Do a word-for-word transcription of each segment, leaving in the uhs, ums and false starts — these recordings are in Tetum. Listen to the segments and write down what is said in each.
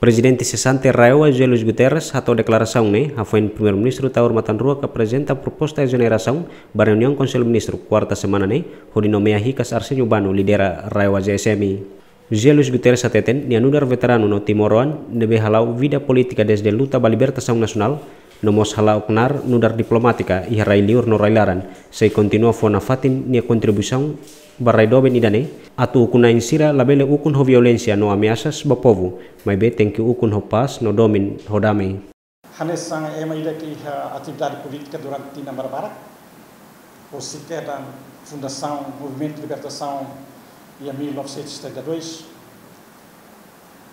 Prezidente sesante RAEOA José Luís Guterres hato'o deklarasaun ne'e hafoin Primeiru-Ministru Taur Matan Ruak aprezenta proposta ezonerasaun ba reuniaun Konsellu Ministru kuarta semana ne'e, hodi nomeia hikas Arsenio Bano lidera RAEOA-JSM. José Luís Guterres hateten nia nu'udar veteranu no timoroan ne'ebé hala'o vida polítika dezde luta ba libertasaun nasionál, no mós hala'o knaar nu'udar diplomátika iha rai-liur no rai-laran, sei kontinua fó nafatin nia kontribuisaun ba rai doben ida-ne'e, atu ukun-na'in sira labele ukun ho violénsia no ameasas ba povu, maibé tenke ukun ho pás no domin ho dame. Hanesan ema ida ke iha atividade polítika durante tinan barbarak, husik kedan fundasaun Movimentu Libertasaun iha mil novecentos e setenta e dois,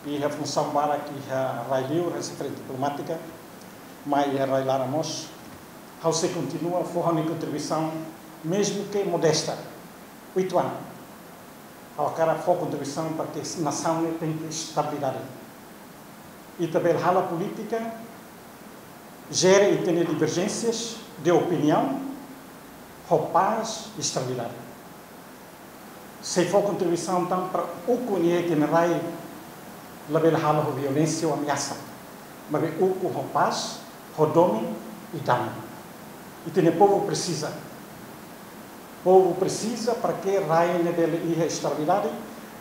iha funsaun barak iha rai-liur hanesan frente diplomátika, mai iha rai-laran mós, ha'u sei kontinua fó ha'u-nia kontribuisaun, mezmu ke modesta, uitoan. Ha'u hakarak fó kontribuisaun para ke nasaun ne'e tenke estabilidade. Ita bele hala'o polítika, jere ita-nia diverjénsias de opiniaun ho pás i estabilidade. Sei fó kontribuisaun tan para ukun iha ita-nia rai labele hala'o ho violénsia ou ameasa, maibé ukun ho pás, ho domin i dame. Ita-nia povu presiza. Povu presiza para ke rai ne'e bele iha estabilidade,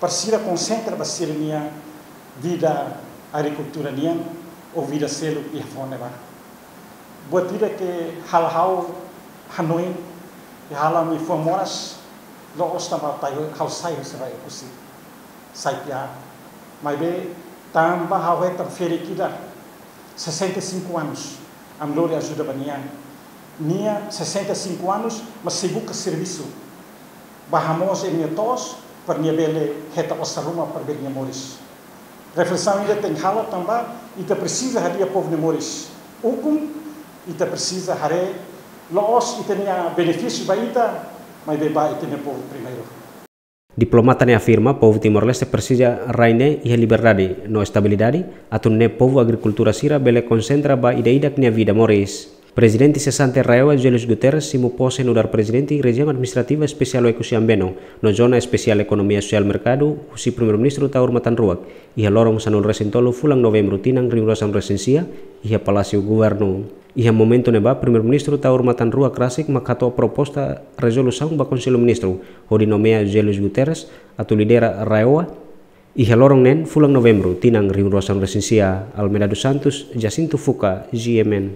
para sira konsentra ba sira-nia vida agrikultura nian ou vida seluk iha foho ne'ebá. Buat ida ke halo ha'u hanoin, i halo ha'u-nia fuan moras, la'ós tanba ha'u sai husi rai Oekusi, sai tiha. Maibé tanba ha'u hetan ferik ida, sessenta e cinco anos, ami lori ajuda ba nia. Nia sessenta e cinco anos, mas sei buka servisu ba hamoos nia to'os, para nia bele hetan osan ruma para bele nia moris. Reflesaun ida tenke halo tanba ita presiza hadi'a povu nia moris. Ukun, ita presiza haree la'ós ita-nia benefísiu ba ita, maibé ba ita-nia povu primeiru. Diplomata ne'e afirma povu Timor-Leste presiza rai ne'e iha liberdade no estabilidade, atu nune'e povu agrikultór sira bele konsentra ba ida-idak nia vida moris. Prezidente sesante RAEOA José Luís Guterres simu pose nu'udar Prezidente Rejiaun Administrativa Espesiál Oekusi Ambeno no Zona Espesiál Ekonomia Sosiál Merkadu husi Primeiru-Ministru Taur Matan Ruak, iha loron sanulu resin tolu fulan Novembru tinan rihun rua sanulu resin sia, iha Palásiu Governu. Iha momentu ne'ebá, Primeiru-Ministru Taur Matan Ruak rasik mak hato'o proposta rezolusaun ba Konsellu Ministru, hodi nomeia José Luís Guterres atu lidera RAEOA, iha loron neen fulan Novembru tinan rihun rua sanulu resin sia. Almeida dos Santos, Jacinto Fuca, G M N.